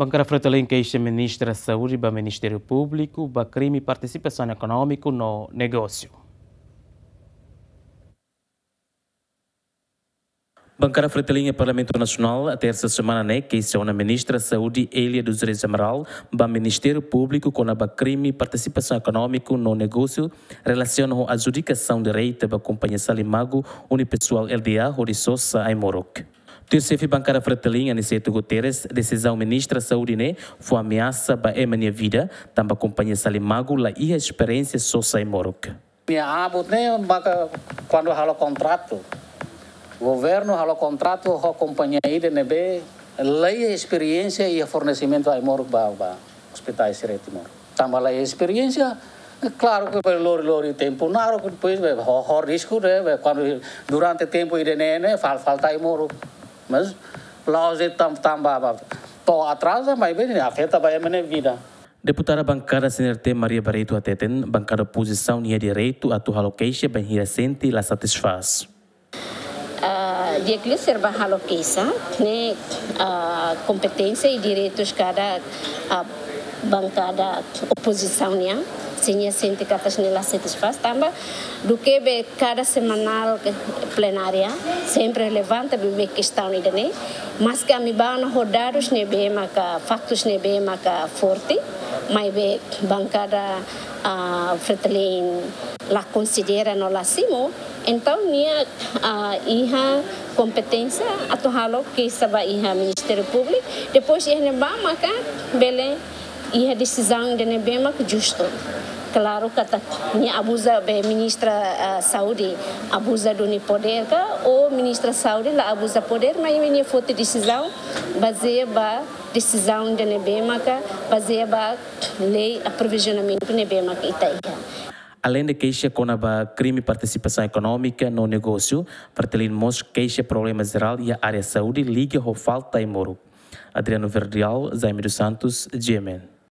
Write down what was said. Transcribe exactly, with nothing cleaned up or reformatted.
Bankada Fretilin keixa Ministra Saúde ba Ministériu Públiku ba krime partisipasaun ekonómiku no negósiu. Bankada Fretilin iha Parlamentu Nasionál, tersa semana ne'e, keixa ona Ministra Saúde Elia dos Reis Amaral ba Ministériu Públiku kona-ba krime partisipasaun ekonómiku no negósiu relasiona ho adjudikasaun direta ba kompañia Salimagu Unipessoal Lda hodi sosa ai-moruk. Tuir xefe bankada Fretilin, Aniceto Guterres, desizaun Ministra Saúde ne'e fó ameasa ba ema nia vida, tanba kompañia Salimagu la iha esperiénsia sosa ai-moruk. Nia abut ne'e maka kuandu halo kontratu. Governu halo kontratu ho kompañia ida ne'ebé la iha esperiénsia iha fornesimentu ai-moruk ba, ba ospitais sira iha Timor. Tanba la iha esperiénsia, klaru ke bele lori-lori tempu naruk, depois bele ho, ho risku de'it, bele kuandu durante tempu ida-ne'e ne'e fal, falta ai-moruk. Mas la'ós de'it tan, tanba ba to'o atraza, maibé ne'e afeta ba ema nia vida. Deputada bankada C N R T Maria Barreto hateten, bankada opozisaun iha direitu atu halo keixa bainhira sente la satisfás. Ah, di'ak liu sira bá halo keixa, ne'e, ah, kompeténsia i direitus kada, ah, bankada opozisaun nian, se nia sente katak nia la satisfás, tanba duké be kada semanál ke plenária sempre levanta be, be kestaun ida-ne'e, maske ami bá ona ho dadus ne'ebé maka, faktus ne'ebé maka forte, maibé bankada, ah, Fretilin la konsidera no la simu, entaun nia, ah, iha kompeténsia atu halo keixa ba iha Ministériu Públiku, depois iha ne'ebá maka bele iha desizaun ida ne'ebé mak justu. Klaru katak nia abuza be Ministra, ah, Saúde, abuza duni podér ka, ou Ministra Saúde la abuza podér, maibé nia foti desizaun bazeia ba desizaun ida ne'ebé maka bazeia ba lei, ah, provizionamentu ne'ebé mak ita iha. Aleinde keixa kona-ba krime partisipasaun ekonómika no negósiu, Fretilin mós keixa problema jerál iha área saúde liga ho falta ai-moruk. Adriano Verdial, Jaime dos Santos, G M N.